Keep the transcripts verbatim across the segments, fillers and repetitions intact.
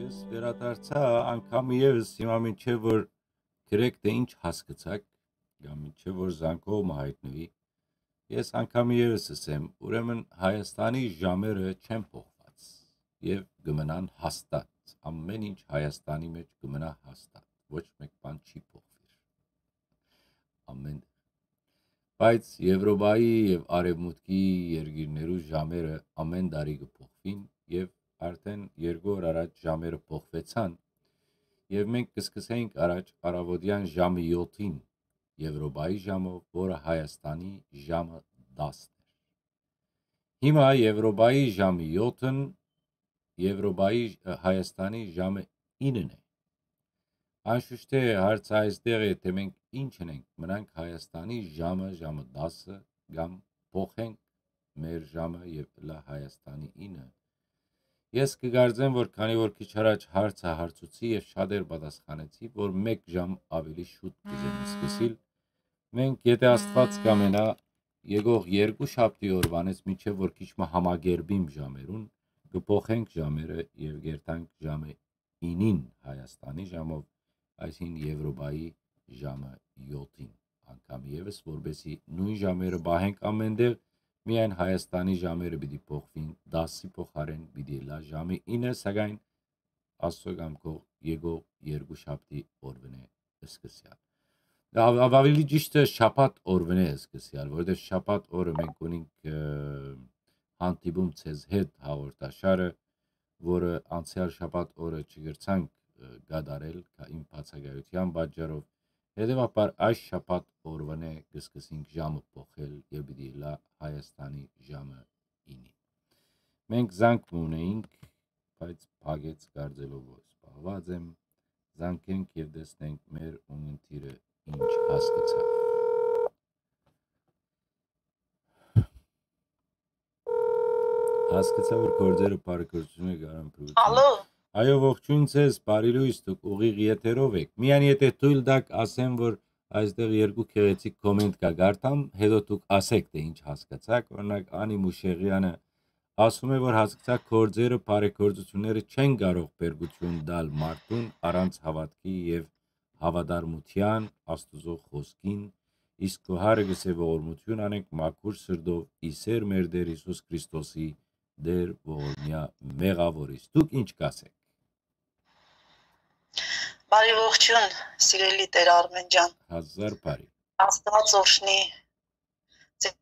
Ես վերադարձայ անգամ ևս, հիմա մինչեւ որ գրեք, թէ ինչ հասկցաք, կամ մինչեւ որ զանգող մը յայտնուի, ես անգամ ևս ըսեմ, ուրեմն Հայաստանի ժամերը չեն փոխուած եւ կը մնան հաստատ, ամէն ինչ Հայաստանի մէջ կը մնայ հաստատ, ոչ մէկ բան չի փոխուիր, ամէն։ Բայց Եվրոպայի եւ Արեւմուտքի երկիրներու ժամերը ամէն տարի կը փոխուին եւ արդէն երկու օր առաջ ժամերը փոխուեցան եւ մենք կը սկսենք առաջ առաւօտեան ժամը յոթին Եվրոպայի ժամով, որը Հայաստանի ժամը տասն էր։ Հիմա Եվրոպայի ժամը յոթն Եվրոպայի, Հայաստանի ժամը ինն է։ Անշուշտ է, հարցը այստեղ է, թէ մենք ինչ ընենք, մնանք Հայաստանի ժամը, ժամը տասը, կամ փոխենք մեր ժամը եւ ըլլայ Հայաստանի ինը։ Ես կը կարծեմ, որ քանի որ քիչ առաջ հարցը հարցուցի եւ շատեր պատասխանեցի, որ մէկ ժամ աւելի շուտ կ'ուզեմ սկսիլ, մենք, եթե Աստուած կամենայ, եկող երկու շաբթի օրուանից մինչեւ որ քիչ մը համակերպիմ ժամերուն, կը փոխենք ժամերը եւ կ'երթանք ժամը ինին Հայաստանի ժամով, այսինքն Եվրոպայի ժամը յոթին անգամ ևս, որպեսզի նոյն ժամերը պահենք ամէնտեղ, միայն Հայաստանի ժամերը պիտի փոխուին, տասի փոխարէն պիտի ըլլայ ժամը ինը, սակայն Աստուծոյ կամքով եկող երկու շաբթի օրուան է սկսեալ։ Աւելի ճիշդը շաբաթ օրուան է սկսեալ, որովհետեւ շաբաթ օրը մենք ունենք հանդիպում ձեզ հետ հաղորդաշարը, որը անցեալ շաբաթ օրը չկրցանք կատարել իմ բացակայութեան պատճառով։ Հետեւաբար այս շաբաթ օրուան է կը սկսենք ժամը փոխել եւ պիտի ըլլայ Հայաստանի ժամը ինին։ Մենք զանգ մը ունեինք, բայց փակեց, կարծելով որ զբաղված եմ, զանգենք եւ տեսնենք մեր ունգընտիրը ինչ հասկցաւ։ Հասկցա որ գործերը բարեգործությունը կարան փրկություն։ Ալո։ Այո, ողջույն ձեզ, բարի լույս, դուք ուղիղ եթերով էք։ Միայն եթե թույլ տաք, ասեմ որ այստեղ երկու գեղեցիկ կոմենտ կա, կարդամ, հետո դուք ասեք, թէ ինչ հասկացաք։ Օրինակ, Անի Մուշեղյանը ասում է, որ հասկցա գործերը, բարեգործությունները չեն կարող բերկություն տալ մարդուն առանց հաւատքի եւ հաւատարմութեան Աստուծոյ խօսքին, իսկ քո հարը կ'ըսէ, ողորմութիւն անենք մաքուր սրտով, ի սէր մեր Տէր Յիսուս Քրիստոսի, Տէր ողորմեայ մեղաւորիս։ Դուք ինչ կ'ասէք։ Բարի ողջոյն, սիրելի Տէր Արմէն ջան։ Հազար բարի։ Աստուած օրհնի ձեզ։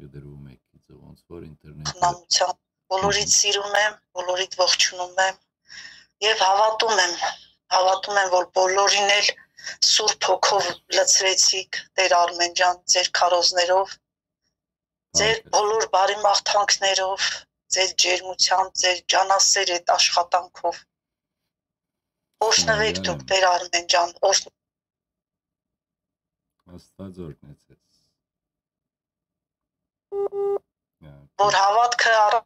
Գդրում եք, գիծը ոնց որ ինտերնետը։ Քնամության, բոլորիդ սիրում եմ, բոլորիդ ողջունում եմ եւ հավատում եմ, հավատում եմ, որ բոլորին էլ Սուրբ Հոգով լցրեցիք, Տէր Արմէն ջան, ձեր քարոզներով, ձեր Այո։ բոլոր բարի մաղթանքներով, ձեր ջերմությամբ, ձեր ջանասեր այդ աշխատանքով։ Օրհնվեք Այո, դուք, այո։ Տէր Արմէն ջան, օրհ- Աստված օրհնեցես։ Ա, որ հավատքը առ-,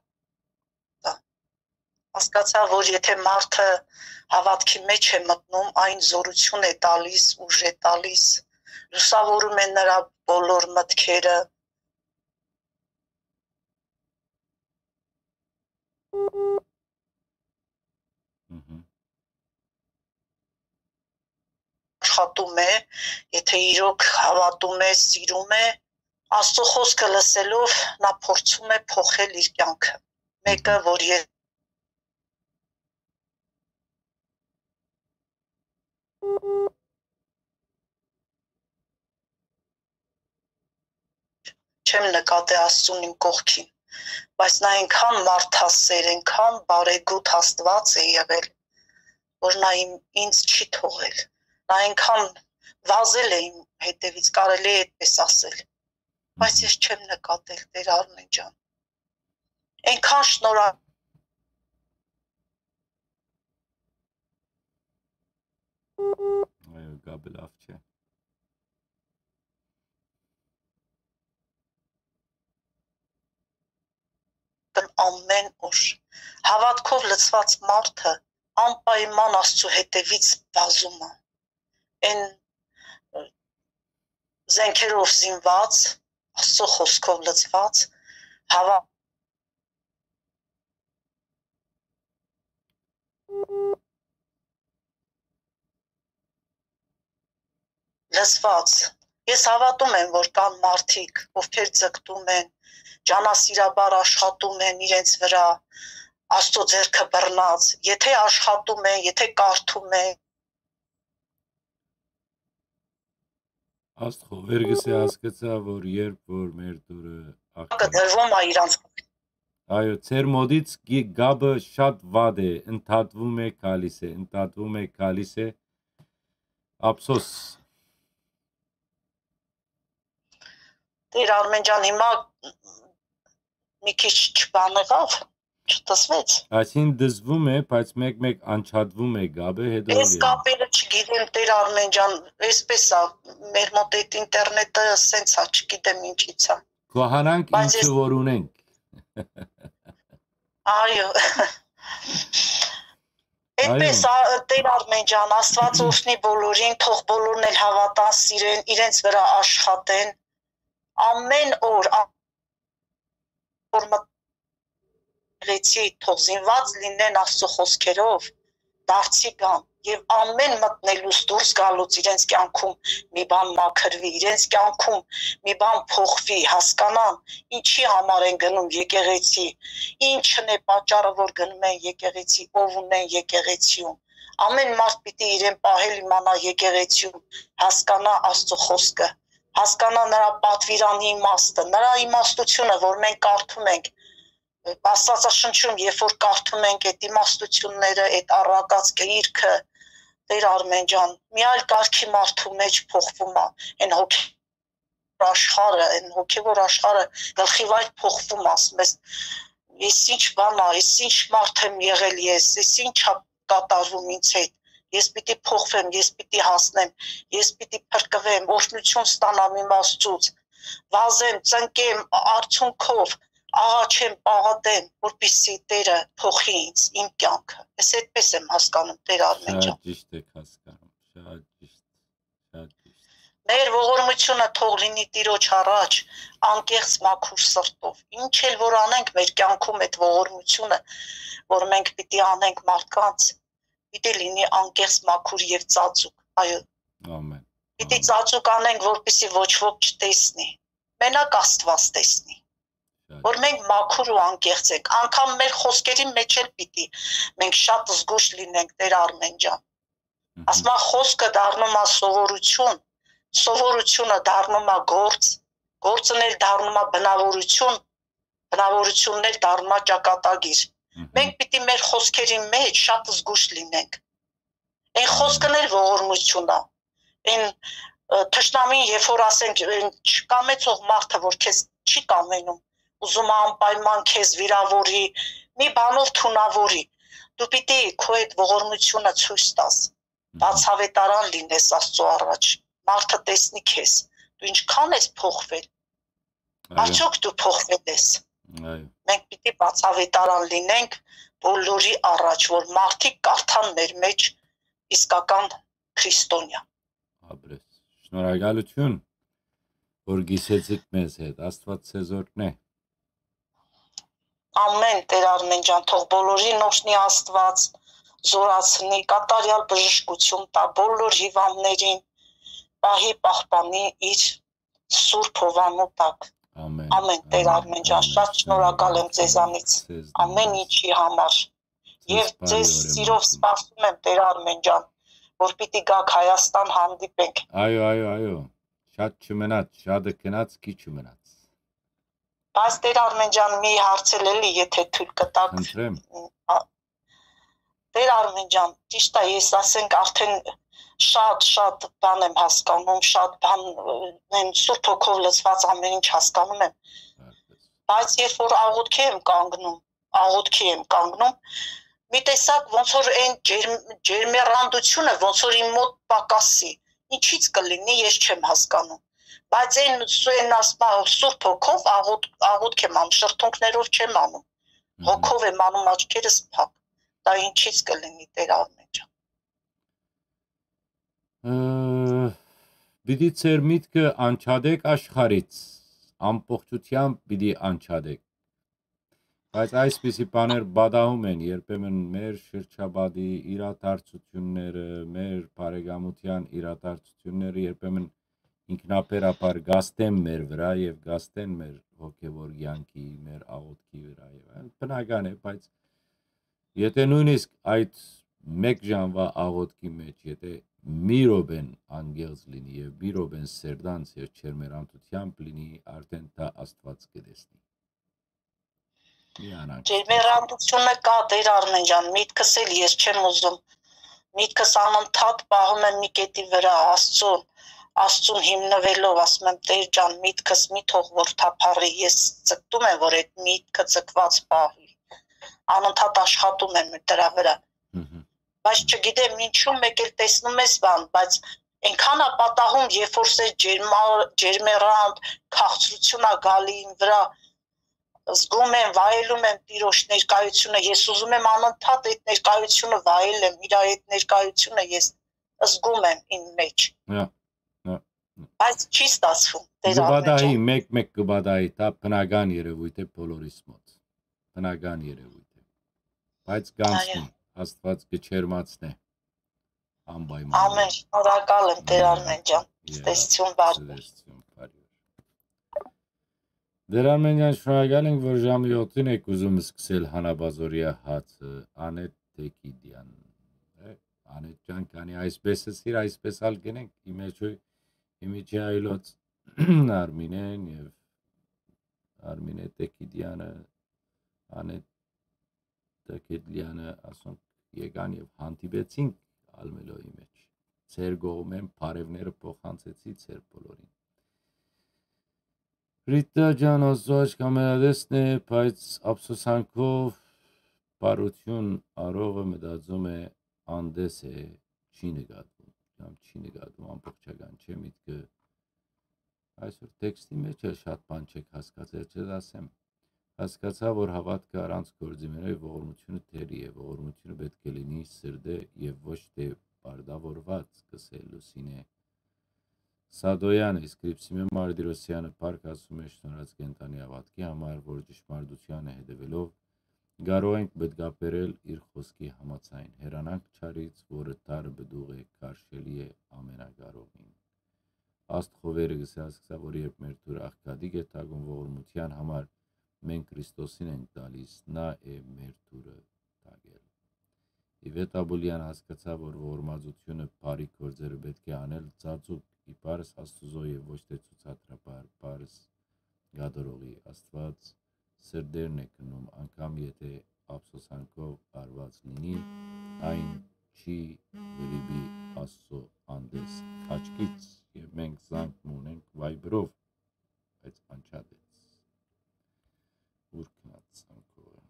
հասկացա, որ եթե մարդը հավատքի մեջ է մտնում, այն զորություն է տալիս, ուժ է տալիս, լուսավորում է նրա բոլոր մտքերը։ Մհմ։ աշխատում է, եթե իրոք հավատում է, սիրում է, Աստծո խոսքը լսելով նա փորձում է փոխել իր կյանքը։ Մեկը, որ ես չեմ նկատի Աստծուն իմ կողքին, բայց նա այնքան մարդասեր, այնքան բարեգութ Աստված է եղել, որ նա իմ, ինձ չի թողել։ Նա այնքան վազել է իմ հետևից, կարելի է այդպես ասել, բայց ես չեմ նկատել, Տեր Արմեն ջան։ Այնքան շնորհ- Այո, գաբը լավ չէ։ Կն ամեն օր։ Հավատքով լցված մարդը անպայման Աստծու հետևից վազում է։ Այն, ը, զենքերով զինված, Աստուծոյ խօսքով լցուած, հաւա- լցուած։ Ես հաւատում եմ, որ կան մարդիկ, ովքեր ձգտում են, ջանասիրաբար աշխատում են իրենց վրայ, Աստուծոյ ձեռքը բռնած, եթե աշխատում են, եթե կարդում են, Աստղովերգսը հասկցայ, որ երբ որ մեր դուրը աղբը կը դրվում է իրանց։ Այո, ձեր մոտից գի- գաբը շատ վատ է, ընդհատվում է, գալիս է, ընդհատվում է, գալիս է։ Ափսոս։ Տեր Արմեն ջան, հիմա մի քիչ չբան եղավ, չտեսվեց։ Այսին դզվում է, բայց մեկ-մեկ անջատվում է գաբը, հետո Ես կապերը չգիտեմ, Տեր Արմեն ջան, այսպես ա, մեր մոտ այդ ինտերնետը սենց ա, չգիտեմ ինչից ա։ Կոհանանք Բայց ինչը ես որ ունենք։ Այո։ Այդպես ա, Տեր Արմեն ջան, Աստված օրհնի բոլորին, թող բոլորն էլ հաւատան, սիրեն, իրենց վրայ աշխատեն։ Ամեն օր, ա- որ մտ- գեղեցի, թող զինված լինեն Աստուծոյ խօսքերով, դարձի գան եւ ամեն մտնելուց դուրս գալուց իրենց կյանքում մի բան մաքրուի, իրենց կյանքում մի բան փոխուի, հասկանան ինչի համար են գնում եկեղեցի, ինչն է պատճառը, որ գնում են եկեղեցի, ով ունեն եկեղեցիում։ Ամեն մարդ պիտի իրեն պահել իմանա եկեղեցիում, հասկանա Աստուծոյ խօսքը, հասկանա նրա պատվիրանի իմաստը, նրա իմաստությունը, որ մենք կարդում ենք Աստվածաշնչում, երբ որ կարդում ենք այդ իմաստությունները, այդ առակած գիրքը, Տեր Արմեն ջան, մի այլ կարգի մարդու մեջ փոխվում է, այն հոգ- աշխարհը, այն հոգեվոր աշխարհը գլխի վայր փոխվում, ասում ես, ես ինչ բան ա, ես ինչ մարդ եմ եղել ես, ես ինչ ա կատարվում ինձ հետ, ես պիտի փոխվեմ, ես պիտի հասնեմ, ես պիտի փրկվեմ, օրհնություն ստանամ իմ Աստծուց, վազեմ, ծնկեմ, արդյունքով աղաչեմ, պաղատեմ, որպեսզի Տերը փոխի ինձ, իմ կյանքը։ Ես այդպես եմ հասկանում, Տեր Արմեն ջան։ Շատ ճիշտ եք հասկանում, շատ ճիշտ, շատ ճիշտ։ Մեր ողորմությունը թող լինի Տիրոջ առաջ, անկեղծ մաքուր սրտով։ Ինչ էլ որ անենք մեր կյանքում, այդ ողորմությունը, որ մենք պիտի անենք մարդկանց, պիտի լինի անկեղծ մաքուր եւ ծածուկ։ Այո, Ամեն։ պիտի ծածուկ անենք, որպեսզի ոչ ոք չտեսնի։ Մենակ Աստված տեսնի, որ մենք մաքուր ու անկեղծ ենք։ Անկամ մեր խոսքերի մեջ էլ պիտի մենք շատ զգուշ լինենք, Տեր Արմեն ջան։ Ասմա խոսքը դառնում է սովորություն, սովորությունը դառնում է գործ, գործն էլ դառնում է բնավորություն, բնավորությունն էլ դառնում է ճակատագիր։ Մենք պիտի մեր խոսքերի մեջ շատ զգուշ լինենք։ Այն խոսքն էլ ողորմություն է։ Այն, ը, թշնամին, երբ որ ասենք, այն չկամեցող մարդը, որ քեզ չի կամենում, ուզում է անպայման քեզ վիրավորի, մի բանով թունավորի, դու պիտի քո այդ ողորմությունը ցույց տաս, բացավետարան լինես Աստծո առաջ, մարդը տեսնի քեզ, դու ինչքան ես փոխվել, Այո, արդյոք դու փոխվել ես։ այո։ Մենք պիտի բացավետարան լինենք բոլորի առաջ, որ մարդիկ կարդան մեր մեջ իսկական քրիստոնյա։ Ապրես։ Շնորհակալություն, որ գիսեցիք մեզ հետ։ Աստված ձեզ օրհնե։ Ամեն, Տեր Արմեն ջան, թող բոլորին օրհնի Աստված, զորացնի, կատարյալ բժշկություն տա բոլոր հիվանդներին, պահի պահպանի իր սուրբ հովանու տակ։ Ամեն։ Ամեն, Տեր Արմեն ջան, շատ շնորհակալ եմ ձեզանից, ամեն ինչի համար։ Եվ ձեզ սիրով սպասում եմ, Տեր Արմեն ջան, որ պիտի գաք Հայաստան, հանդիպենք։ Այո, այո, այո։ Շատ չմնաց, շատը գնաց, քիչ մնաց։ Բայց, Տեր Արմեն ջան, մի հարց էլ էլի, եթե թույլ կտաք։ Խնդրեմ։ Ա, Տեր Արմեն ջան, ճիշտ է, ես, ասենք, արդեն շատ, շատ բան եմ հասկանում, շատ բան, ը, են Սուրբ Հոգով լցված ամեն ինչ հասկանում եմ։ Բայց երբ որ աղոթքի եմ կանգնում, աղոթքի եմ կանգնում, մի տեսակ ոնց որ այն ջերմ-, ջերմեռանդությունը ոնց որ իմ մոտ պակասի, ինչից կլինի, ես չեմ հասկանում։ Բայց այն, այն ասմա Սուրբ Հոգով աղոթ-, աղոթք եմ անում, շրթունքներով չեմ անում, հոգով եմ անում, աչքերս փակ։ Դա ինչից կլինի, Տեր Արմեն ջան։ Ը, պիտի ձեր միտքը անջատեք աշխարհից, ամբողջությամբ պիտի անջատէք։ Բայց այսպիսի բաներ պատահում են երբեմն մեր շրջապատի իրադարձությունները, մեր բարեկամության իրադարձությունները երբեմն ինքնաբերաբար գաստեն մեր վրա եւ գաստեն մեր հոգեվոր կեանքի, մեր աղոթքի վրա եւ այլն։ Բնական է, բայց եթե նույնիսկ այդ մեկ ժամվա աղոթքի մեջ, եթե մի րոպեն անկեղծ լինի եւ մի րոպեն սերտանց եւ չերմերանցությամբ լինի, արդեն դա Աստուած կտեսնի։ Միանանք։ Ջերմեռանդությունը կա, Տեր Արմեն ջան, միտքս էլ ես չեմ ուզում։ Միտքս անընդհատ պահում եմ մի կետի վրա, Աստծուն, Աստծուն հիմնվելով, ասում եմ, Տեր ջան, միտքս մի թող որ թափառի, ես ձգտում եմ, որ այդ միտքը ձգված պահի, անընդհատ աշխատում եմ դրա վրա։ Մհմ։ Բայց չգիտեմ ինչու, մեկ էլ տեսնում ես բան, բայց այնքան ա պատահում, երբ որ սեր ջերմա-, ջերմեռանդ, քաղցրություն ա գալի իմ վրա, զգում եմ, վայելում եմ Տիրոջ ներկայությունը, ես ուզում եմ անընդհատ այդ ներկայությունը վայելեմ, իր այդ ներկայությունը ես զգում եմ իմ մեջ։ Հա, հա, հա։ Բայց չի ստացվում, Տեր Արմեն ջան։ Կը պատահի, մեկ-մեկ կը պատահի, դա բնական երևույթ է բոլորիս մոտ։ Բնական երևույթ է։ Բայց կանցնի, այո, Աստուած կը չերմացնէ անպայման։ Ամեն, շնորհակալ եմ, Տեր Արմեն ջան։ Եա, տեսություն բարի։ Տեսություն բարի։ Տեր Արմեն ջան, շնորհակալ ենք, որ ժամը յոթին եք ուզում սկսել հանապազօրեայ հացը, Անետ Տեկիդյան։ Է, Անետ ջան, քանի այսպես ըսիր, այսպես ալ գնենք, իմեջոյ, իմիջի այլոց Արմինեն եւ Արմինե Տեկիդյանը, Անետ Տեկիդյանը, ասոնք եկան եւ հանդիպեցինք Ալմելոյի մեջ։ Ձեր կողմէն բարեւները փոխանցեցի ձեր բոլորին։ Ռիտա ջան, Աստուած կամենատեսն է, բայց ափսոսանքով բարութիւն արողը մտածում է, անդես է, չի նկատում, կամ չի նկատում, ամբողջական չէ միտքը։ Այսօր տեքստի մեջ էլ շատ բան չեք հասկացել, չդասեմ։ Հասկացայ, որ հաւատքը առանց գործի մենակ ողորմութիւնը թերի է, ողորմութիւնը պէտք է լինի սրտէ եւ ոչ թէ պարտաւորուած, կ'ըսէ Լուսինէ Սադոյանը, իսկ Սրիփսիմէ Մարտիրոսյանը փառք ասում է շնորհած կենդանի հաւատքի համար, որ ճշմարտությանը հետեւելով կարող ենք մտկաբերել իր խօսքի համաձայն։ Հեռանանք չարից, որը դարը պտուղ է, քարշելի է ամենակարողին։ Աստղովերը կ'ըսէ, ասկսա, որ երբ մեր դուռը աղքատիկ է թակում ողորմութեան համար, մենք Քրիստոսին ենք տալիս, նա է մեր դուռը թակել։ Իվետ Աբուլեան հասկացայ, որ ողորմածութիւնը բարի գործերը պէտք է անել ծածուկ, իբարս Աստուծոյ եւ ոչ թէ ցուցադրաբար, պարս կատարողի։ Աստուած սրտերն է գնում, անգամ եթէ ափսոսանքով արուած լինի, այն չի վրիպի Աստծո անդես աչքից, եւ մենք զանգ մը ունենք Viber-ով, բայց անջատեց։ Ո՞ւր գնաց զանգողը։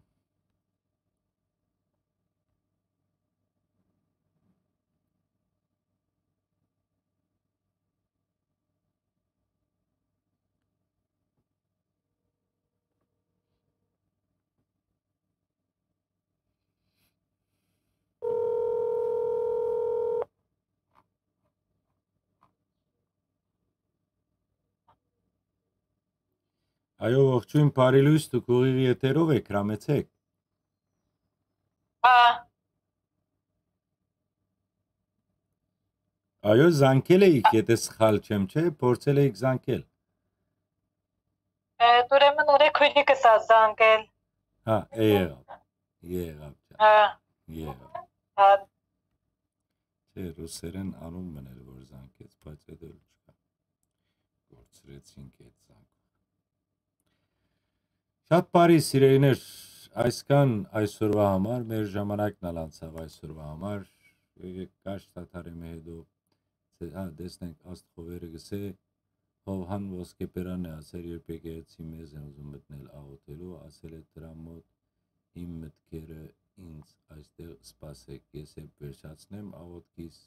Այո, ողջույն, բարի լույս, դուք ուղիղ եթերով եք, հրամեցեք։ Հա։ Այո, զանգել էիք, եթե սխալ չեմ, չէ՞, փորձել էիք զանգել։ Է, ուրեմն օրեքույնիկս ա զանգել։ Հա, է, եղավ, եղավ, ջան, հա, եղավ։ Հա։ Չէ, ռուսերեն անուն մըն էր, որ զանգեց, բայց էդ էլ չկա։ Կորցրեցինք այդ զանգը։ Շատ բարի, սիրելիներ, այսքան այսօրվա համար, մեր ժամանակն ալ անցաւ այսօրվա համար, եկեք Կաշ Թաթարի մը հետո, ցե-, հա, տեսնենք, Աստղովերը գսե, Հովհան Ոսկեբերանն է ասել, երբ եկեղեցի մեզ են ուզում մտնել աղոթելու, ասել է դրան մոտ, իմ մտքերը ինձ այստեղ սպասեք, ես երբ վերջացնեմ աղոթքիս,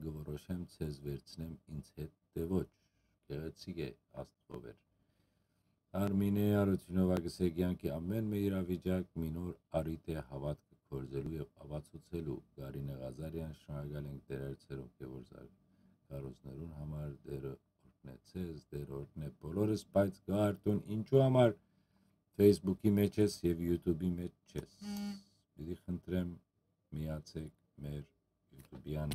կորոշեմ, ցեզ վերցնեմ ինձ հետ, թէ ոչ, գեղեցիկ է Աստղովեր։ Արմինե Արութիւնովա գսե, կեանքի ամէն մը իրավիճակ մի նոր առիթ է հաւատքը գործելու եւ ապացուցելու։ Կարինե Ղազարեան, շնորհակալ ենք Տեր Արցերով Գևորգ Զար-, քարոզներուն համար, Տերը օրհնեցես, Տէր օրհնէ բոլորս, բայց գա արդուն ինչու համար Facebook-ի մեջ ես եւ YouTube-ի մեջ չես։ Պիտի խնդրեմ, միացեք մեր YouTube-յան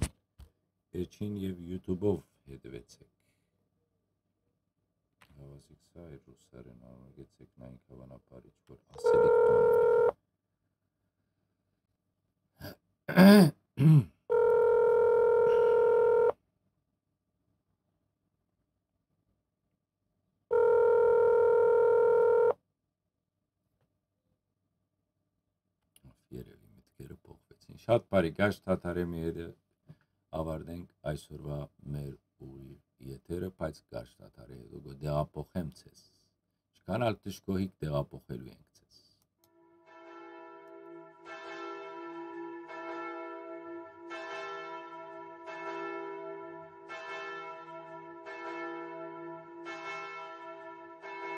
էջին եւ YouTube-ով հետեւեցեք։ Հաւասիկ սա է ռուսերեն, աղօթեցեք նայենք հաւանաբար ինչ որ ասելիք բան ունի։ Երևի մտքերը փոխվեցին։ Շատ բարի, Գաշ Թաթարեմի հետ ավարտենք այսօրվա մեր ուղի եթերը, բայց Գաշ Թաթարի հետ կը տեղափոխեմ ձեզ։ Ինչքան ալ դժգոհիք, տեղափոխելու ենք